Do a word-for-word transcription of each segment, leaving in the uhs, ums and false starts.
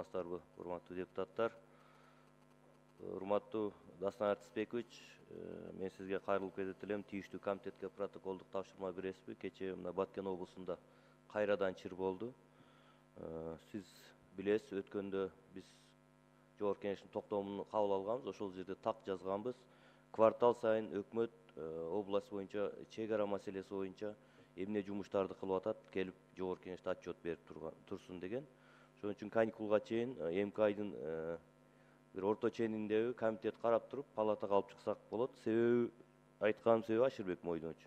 саламатсыздарбы, урматтуу депутаттар. Урматтуу Дастан Артисбекович, мен сизге кайрылып кетет элем. Тийиштүү комитетке протоколдук тапшырма бересизби? Кечээ мына Баткен облусунда кайрадан чыр болду. Сиз билесиз, өткөндө биз Жогорку Кеңештин токтомун кабыл алганбыз. Ошол жерде так жазганбыз. Квартал сайын өкмөт область боюнча чек ара маселеси боюнча эмне жумуштарды кылып атат, келип Жогорку Кеңеште отчет берип турсун деген. Ошон үчүн каникулга чейин эмки айдын бир орто чениндеги комитет карап туруп, палатага алып чыксак болот. Себеби айтканым себеби Аширбек Мойдонович.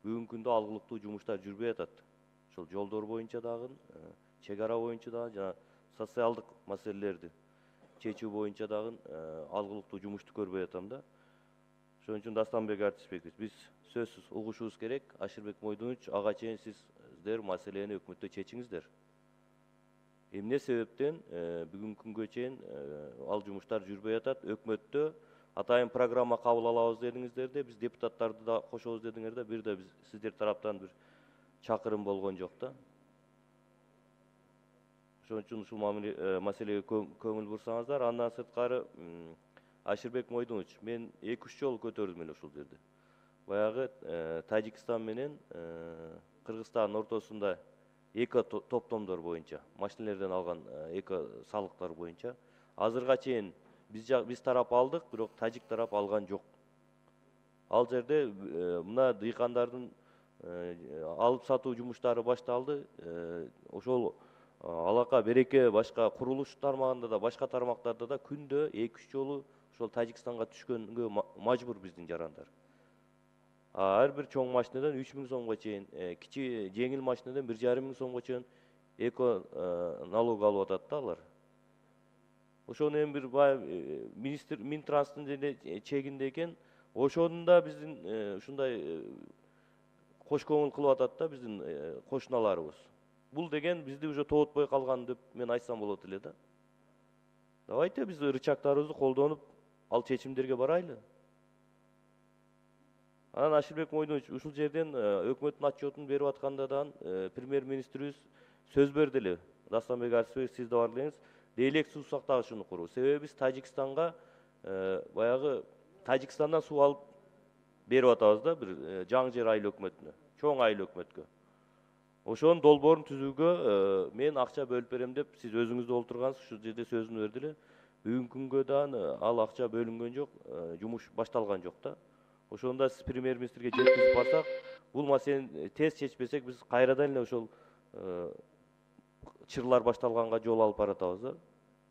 Бүгүнкү күндө алгылыктуу жумуштар жүрбөй атат. Ошол жолдор боюнча дагы, чек ара боюнча дагы жана социалдык маселелерди чечүү боюнча дагы алгылыктуу жумушту көрбөй атам да. Ошон үчүн Дастанбек Артисбекович, биз сөзсүз угушубуз керек. Аширбек Мойдонович, ага чейин сиздер маселени өкмөттө чечиңиздер. Эмне себептен бүгүнкү күнгө чейин ал жумуштар жүрбөй атат? Өкмөттө атайын программа кабыл алабыз дедиңиздер да, биз депутаттарды да кошобуз дедиңер да, бир да биз сиздер тараптан бир чакырым болгон жок да. Ошон үчүн ушул маселеге көңүл бурсаңыздар. Андан сырткары Аширбек Мойдонович, мен эки үч жолу көтөрдүм эле ушул жерде. Баягы Тажикстан менен Кыргызстандын ортосунда эко топтомдор боюнча, машинелерден алган эко салыктар боюнча азырга чейин биз биз тарап алдык, бирок тажик тарап алган жок. Ал жерде мына дыйкандардын алып сатуу жумуштары башталды. Ошол алака береке башка курулуш тармагында да, башка тармактарда да күндө эки үч жолу ошол Тажикстанга түшкөнгө мажбур биздин жарандар. Ар бир чоң машинадан үч миң сомго чейин, кичи жеңил машинадан бир жарым миң сомго чейин эко налог алып атат да алар. Ошону эми бир министр Минтранстын деле чегинде экен. Ошону да биздин ушундай кош көңүл кылып атат да биздин кошуналарыбыз. Бул деген бизди уже тоотпой калган деп мен айтсам болот эле да. Давайте биз рычагдарыбызды колдонуп, ал чечимдерге барайлы. Анан Аширбек Мойдонович, ушул жерден өкмөттүн отчетун берип атканда дагы премьер-министрибиз сөз берди эле. Дастанбек Артисбекович, сиз да бар элеңиз, Дейлек суу сактагыч ушуну куруу. Себеби биз Тажикстанга баягы Тажикстандан суу алып берип атабыз да бир жаңы жер айыл өкмөтүнө, чоң айыл өкмөткө. Ошонун долбоорун түзүүгө мен акча бөлүп берем деп сиз өзүңүз да олтургансыз, ушул жерде сөзүн берди эле. Бүгүнкү күнгө дагы ал акча бөлүнгөн жок, жумуш башталган жок да. Ошондо сиз премьер-министрге жеткизип барсак, бул маселени тез чечпесек, биз кайрадан эле ошол чырлар башталганга жол алып баратабыз да.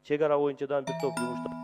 Чек ара боюнча дагы бир топ жумуштар